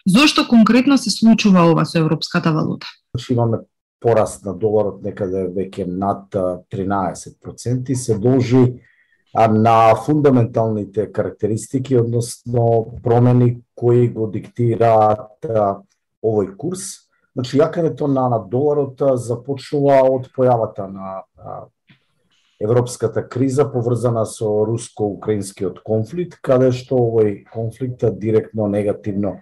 Зошто конкретно се случува ова со европската валута? Имаме пораст на доларот некаде веќе над 13%, се должи на фундаменталните карактеристики, односно промени кои го диктираат овој курс. Значи, јакањето на доларот започнува од појавата на европската криза поврзана со руско-украинскиот конфликт, каде што овој конфликт директно негативно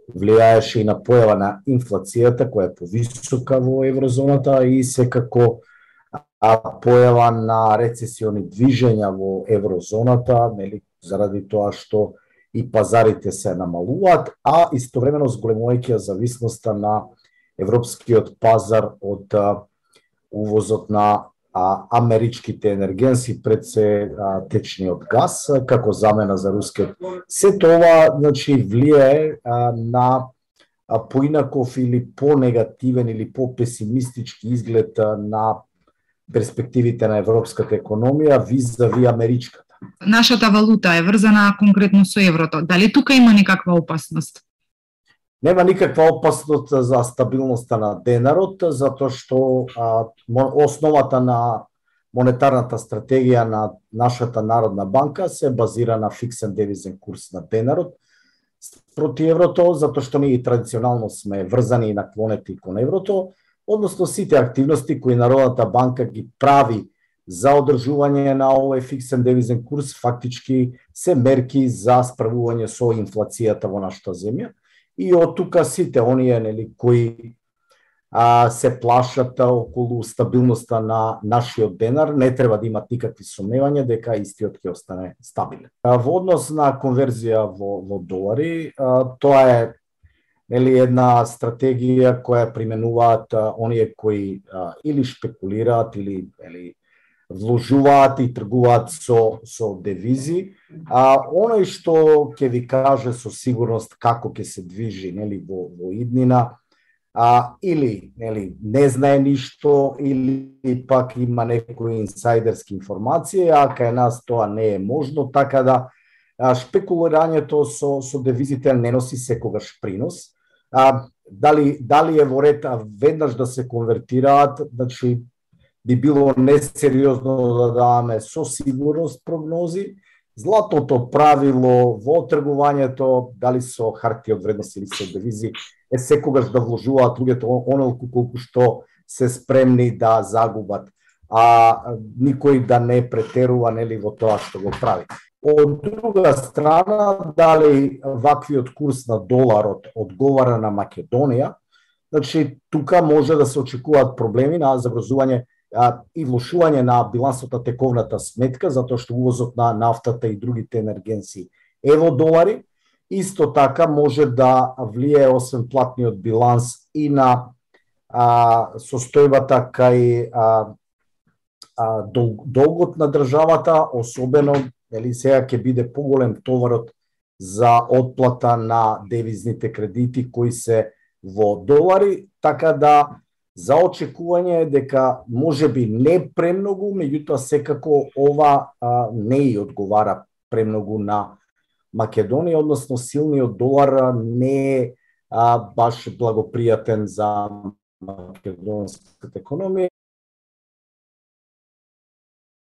влијаеше и на појава на инфлацијата, која е повисока во еврозоната, и секако појава на рецесиони движења во еврозоната, заради тоа што и пазарите се намалуваат, а истовремено зголемувајќи зависноста на европскиот пазар од увозот на америчките енергенси, пред се течниот газ, како замена за рускиот. Се тоа, значи, влијае на поинаков или по-негативен или по-песимистички изглед на перспективите на европската економија визави америчката. Нашата валута е врзана конкретно со еврото. Дали тука има некаква опасност? Нема никаква опасност за стабилноста на денарот, затоа што основата на монетарната стратегија на нашата Народна банка се базира на фиксен девизен курс на денарот проти еврото, затоа што ние традиционално сме врзани и наклонети кон еврото, односно сите активности кои Народната банка ги прави за одржување на овој фиксен девизен курс фактички се мерки за справување со инфлацијата во нашата земја. И од тука сите оние кои се плашат околу стабилноста на нашиот денар не треба да имат никакви сомневања дека истиот ќе остане стабилен. Во однос на конверзија во долари, тоа е една стратегија која применуваат оние кои или шпекулираат или вложуваат и тргуваат со девизи. Оној што ќе ви каже со сигурност како ќе се движи во иднина, или не знае ништо, или пак има некои инсайдерски информации, а кај нас тоа не е можно, така да шпекулирањето со девизите не носи секогаш принос. Дали е во ред веднаш да се конвертираат, значи би било несериозно да даваме со сигурност прогнози. Златното правило во тргувањето, дали со харти од вредност или со девизи, е секогаш да вложуваат луѓето онолку колку што се спремни да загубат, а никој да не претерува во тоа што го прави. Од друга страна, дали ваквиот курс на доларот одговара на Македонија, значи тука може да се очекуваат проблеми на загрозување и влошување на билансот на тековната сметка, затоа што увозот на нафтата и другите енергенси е во долари. Исто така може да влијае освен платниот биланс и на состојбата кај долгот на државата, особено сега ќе биде поголем товарот за отплата на девизните кредити кои се во долари, така да за очекување е дека можеби не премногу, меѓутоа секако ова не и одговара премногу на Македонија, односно силниот долар не е баш благопријатен за македонската економија.